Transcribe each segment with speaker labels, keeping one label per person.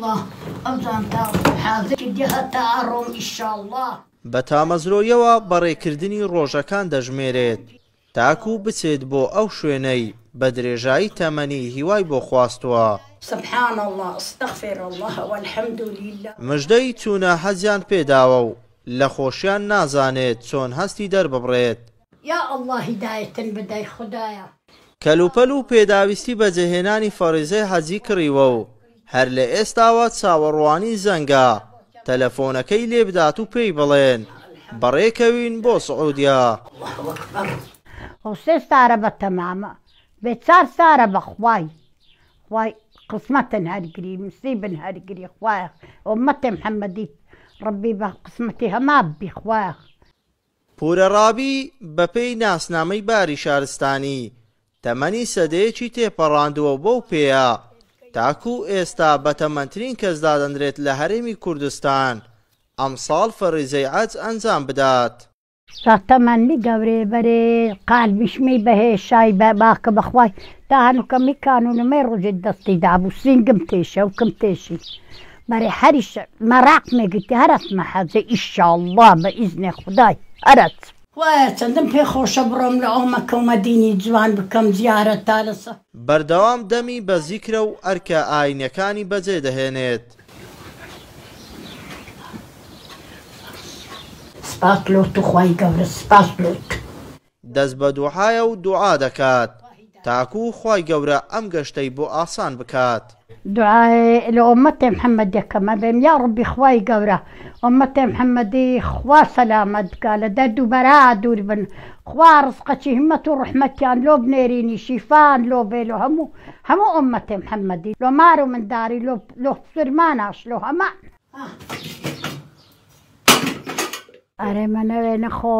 Speaker 1: اللە ئەو جانتا حازر کردی هەتا ئەڕۆم ئیشاڵڵا.
Speaker 2: بە تامەزرۆیەوە بەڕێکردنی ڕۆژەکان دەژمێرێت تاکو بچێت بۆ ئەو شوێنەی بە درێژایی تەمەنی هیوای بۆ خواستووە.
Speaker 1: سبحان اللە استغفر اللە والحمد للە.
Speaker 2: مژدەی چوونە حەجیان پێداوە و لە خۆشیان نازانێت چۆن هەستی دەرببڕێت.
Speaker 1: یا اللە هیدایەتن بدەی خودایە.
Speaker 2: کەلوپەل و پێداویستی بەجێهێنانی فەڕیزەی حەجی کڕیوە و هەر لە ئێستاوە چاوەڕوانی زەنگە تەلەفۆنەکەی لێبدات و پێی بڵێن بەڕێکەوین بۆ سعودیە.
Speaker 1: اللە اکبر. خۆ سێ ستارە بە تەمامە بێ چار ستارە بە خوای خوای قسمەتن هەرگری نسیبن هەرگری خوایە ئومەتێ محمدی ڕەبی بە قسمەتی هەما بی خوایە.
Speaker 2: پورە ڕابی بەپێی ناسنامەی باری شارستانی، تەمەنی سەدەیەکی تێپەڕاندووە و بەو پێیە تاکوو ئێستا بەتەمەنترین کەس دادەنرێت لە هەرێمی کوردستان ئەمساڵ فەریزەی عەج ئەنجام بدات.
Speaker 1: تا تەمەنمی گەورەیە بەرێ قالبیشمی بەهێ شای بە باکە بەخوای تا هەنوکە می کانونمەی ڕۆژێ دەستی دابوو سینگم تێشە وکم تێشی بەرێ هەریش مەراقمێ گرتی هەر ئەچمە حەجێ ئیشاڵڵا بە ئیزنێ خودای هەر ئەچم. خوایە چەندم پێ خۆشە بڕۆم لە ئەو مەکە و مەدینی جوان بکەم زیارەت تا لە سە.
Speaker 2: بەردەوام دەمی بە زیکرە و ئەرکە ئاینیەکانی بەجێ دەهێنێت.
Speaker 1: سپاس لۆ تو خوای گەورە سپاس لۆ تو.
Speaker 2: دەست بە دوعایە و دوعا دەکات تاکو خوای گەورە ئەم گەشتەی بۆ ئاسان بکات.
Speaker 1: دوعای لە ئۆمەتێ محمد دەکەم ئەبێم یاڕەبی خوای گەورە ئۆمەتێ محمدی خوا سەلامەت بکا لە دەرد و بەرا دوور بن خوا ڕزقەکی همەت و ڕەحمەتیان لۆ بنێرینی شیفان لۆ بێ لۆ هەموو هەموو ئۆمەتێ محمدی لۆ مار و منداری لۆ لۆ سرماناش لۆ هەمان. ئەرێ مەنەوێ نەخۆ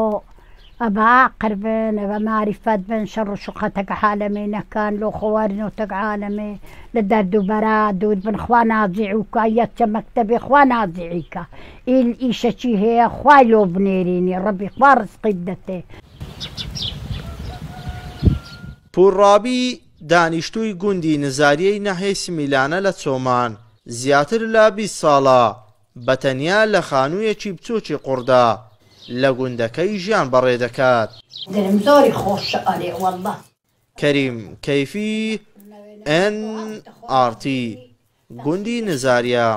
Speaker 1: ئەبە ئاقر بن ئەبە ماریفەت بن شەڕ و شوقەتەک عالەمێ نەکەن لۆ خۆ وەرنۆتەک عالەمێ لە دەرد و بەرا دوور بن خوا نازیعو کا یەچە مەکتەبێ خوا نازیعی کا ئیل ئیشەکی هەیە خوای لۆ بنێرینی ڕەبی خوا ڕزقی بدەتێ.
Speaker 2: پوور ڕابی، دانیشتووی گوندی نزاریەی ناحیەی سمیلانە لە چۆمان، زیاتر لە 20 ساڵە بە تەنیا لە خانوویەکی بچووکی قوڕدا لە گوندەکەی ژیان بەڕێ دەکات.
Speaker 1: دلم زۆری خۆشە ئەرێ واللە.
Speaker 2: کەریم کەیفی، ئێن ئاڕ تی، گوندی نزاریە.